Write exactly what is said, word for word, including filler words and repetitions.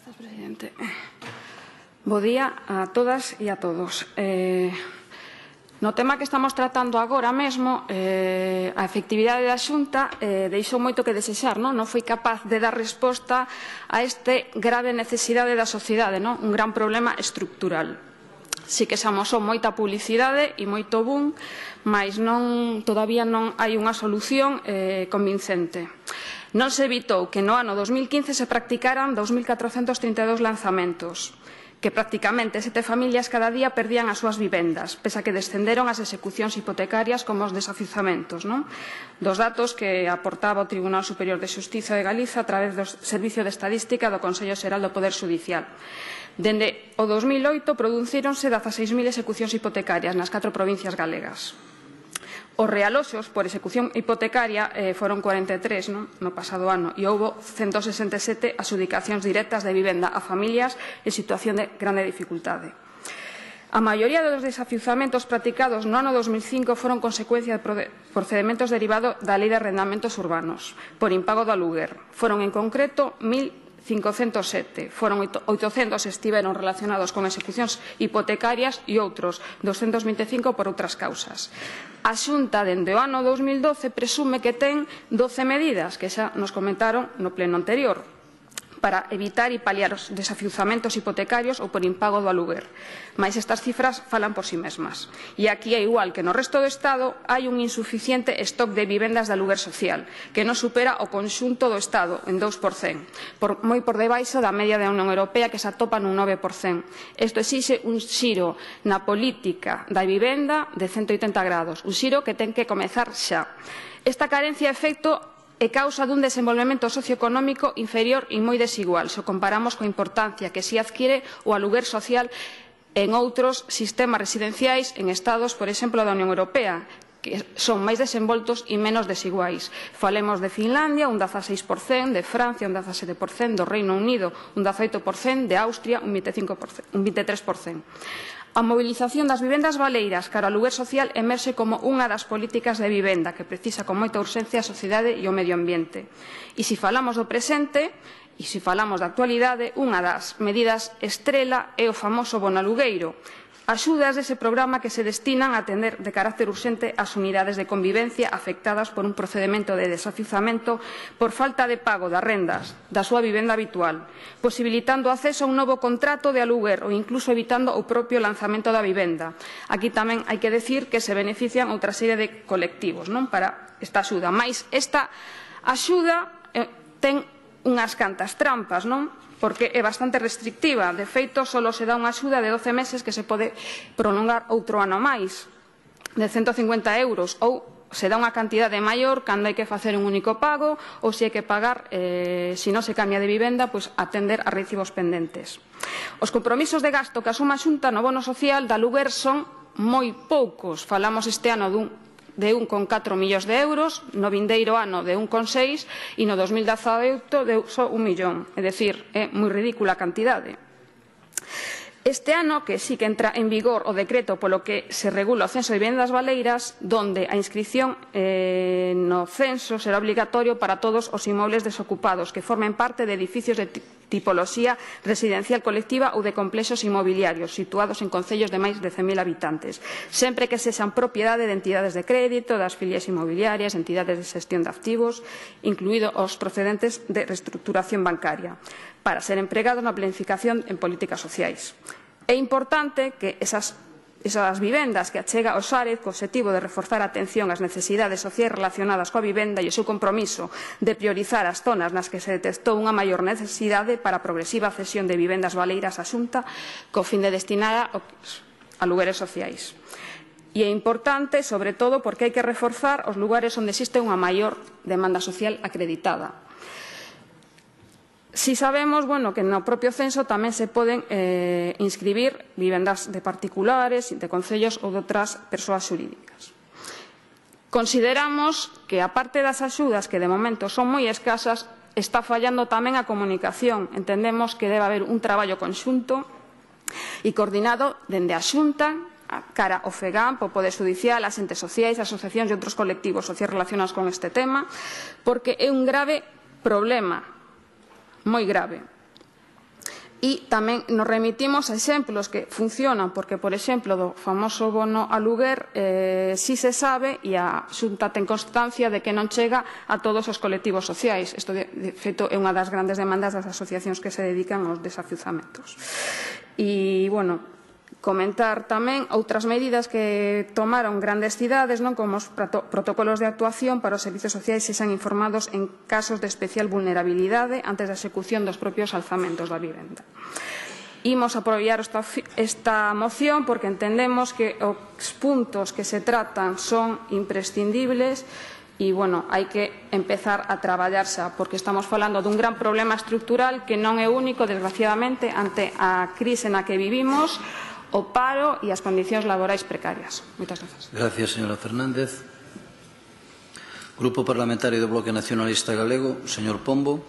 Gracias, presidente. Bo día a todas e a todos. Eh, no tema que estamos tratando agora mesmo, eh, a efectividade da Xunta eh, deixou moito que desexar, non? Non foi capaz de dar resposta a este grave necesidade da sociedade, non? Un gran problema estructural. Si que se amosou moita publicidade e moito boom, mas non, todavía non hai unha solución eh, convincente. Non se evitou que no ano dos mil quince se practicaran dos mil catrocentos trinta e dous lanzamentos, que prácticamente sete familias cada día perdían as súas vivendas, pese a que descenderon as execucións hipotecarias como os desafiuzamentos, non? Dos datos que aportaba o Tribunal Superior de Xustiza de Galiza a través do Servicio de Estadística do Consello Xeral do Poder Xudicial. Dende o dos mil oito producíronse dezaseis mil execucións hipotecarias nas catro provincias galegas. Os realoxos por execución hipotecaria eh, foron cuarenta e tres non? No pasado ano e houbo ciento sesenta e sete adxudicacións directas de vivenda a familias en situación de grande dificultade. A maioría dos desafiuzamentos practicados no ano dos mil cinco foron consecuencia de procedementos derivados da Lei de Arrendamentos Urbanos por impago do aluguer. Foron en concreto mil cincocentos sete, foron oitocentos estiveron relacionados con execucións hipotecarias e outros doscentos vinte e cinco por outras causas. A Xunta, dende o ano dos mil doce, presume que ten doce medidas, que xa nos comentaron no pleno anterior, para evitar e paliar os desafiuzamentos hipotecarios ou por impago do aluguer. Mais estas cifras falan por si mesmas. E aquí, é igual que no resto do Estado, hai un insuficiente stock de vivendas de aluguer social, que non supera o conxunto do Estado en dous por cento, por, moi por debaixo da media da Unión Europea, que se atopa nun nove por cento. Isto exixe un xiro na política da vivenda de ciento oitenta grados, un xiro que ten que comezar xa. Esta carencia é efecto é causa dun desenvolvemento socioeconómico inferior e moi desigual, se o comparamos coa importancia que si adquire o aluguer social en outros sistemas residenciais en estados, por exemplo, da Unión Europea, que son máis desenvoltos e menos desiguais. Falemos de Finlandia, un dezaseis por cento, de Francia, un dezasete por cento, do Reino Unido, un dezaoito por cento, de Austria, un vinte e cinco por cento, un vinte e tres por cento. A mobilización das vivendas baleiras cara ao aluguer social emerxe como unha das políticas de vivenda que precisa con moita urxencia a sociedade e o medio ambiente. E se falamos do presente, e se falamos da actualidade, unha das medidas estrela é o famoso bono alugueiro, axudas dese programa que se destinan a atender de carácter urxente as unidades de convivencia afectadas por un procedemento de desafiuzamento por falta de pago das rendas da súa vivenda habitual, posibilitando o acceso a un novo contrato de aluguer ou incluso evitando o propio lanzamento da vivenda. Aquí tamén hai que decir que se benefician outra serie de colectivos non para esta axuda, mais esta axuda eh, ten unhas cantas trampas, non? Porque é bastante restrictiva. De feito, só se dá unha axuda de doce meses que se pode prolongar outro ano máis, de ciento cincuenta euros, ou se dá unha cantidade maior cando hai que facer un único pago ou se hai que pagar, eh, se non se cambia de vivenda, pois atender a recibos pendentes. Os compromisos de gasto que asuma a Xunta no bono social da aluguer son moi poucos. Falamos este ano dun de un coma catro millóns de euros, no vindeiro ano de un coma seis e no dos mil dezaoito de só un millón. É dicir, é moi ridícula a cantidade. Este ano, que sí que entra en vigor o decreto polo que se regula o censo de vivendas baleiras, donde a inscrición eh, no censo será obligatorio para todos os inmobles desocupados que formen parte de edificios de tipoloxía residencial colectiva ou de complexos inmobiliarios situados en concellos de máis de cen mil habitantes, sempre que sexan propiedade de entidades de crédito, das filias inmobiliarias, entidades de xestión de activos, incluídos os procedentes de reestructuración bancaria, para ser empregados na planificación en políticas sociais. É importante que esas, esas vivendas que achega o Xárez co obxectivo de reforzar a atención ás necesidades sociais relacionadas coa vivenda e o seu compromiso de priorizar as zonas nas que se detectou unha maior necesidade para a progresiva cesión de vivendas baleiras á Xunta co fin de destinar a alugueres sociais. E é importante, sobre todo, porque hai que reforzar os lugares onde existe unha maior demanda social acreditada. Si sabemos, bueno, que no propio censo tamén se poden eh, inscribir vivendas de particulares, de concellos ou de outras persoas xurídicas. Consideramos que, aparte das axudas, que de momento son moi escasas, está fallando tamén a comunicación. Entendemos que debe haber un traballo conxunto e coordinado dende a Xunta, cara ao FEGAMP, o Poder Judicial, as entes sociais, asociacións e outros colectivos sociais relacionados con este tema, porque é un grave problema, moi grave. E tamén nos remitimos a exemplos que funcionan, porque, por exemplo, do famoso bono aluguer, eh, si se sabe e a Xunta ten constancia de que non chega a todos os colectivos sociais. Isto, de, de feito, é unha das grandes demandas das asociacións que se dedican aos desafiuzamentos. E, bueno, comentar tamén outras medidas que tomaron grandes cidades, non, como os protocolos de actuación para os servizos sociais sexan informados en casos de especial vulnerabilidade antes da execución dos propios alzamentos da vivenda. Imos apoiar esta, esta moción porque entendemos que os puntos que se tratan son imprescindibles e, bueno, hai que empezar a traballar xa, porque estamos falando dun gran problema estructural que non é único, desgraciadamente, ante a crise na que vivimos, o paro e as condicións laborais precarias. Moitas grazas. Gracias, señora Fernández. Grupo Parlamentario do Bloque Nacionalista Galego, señor Pombo.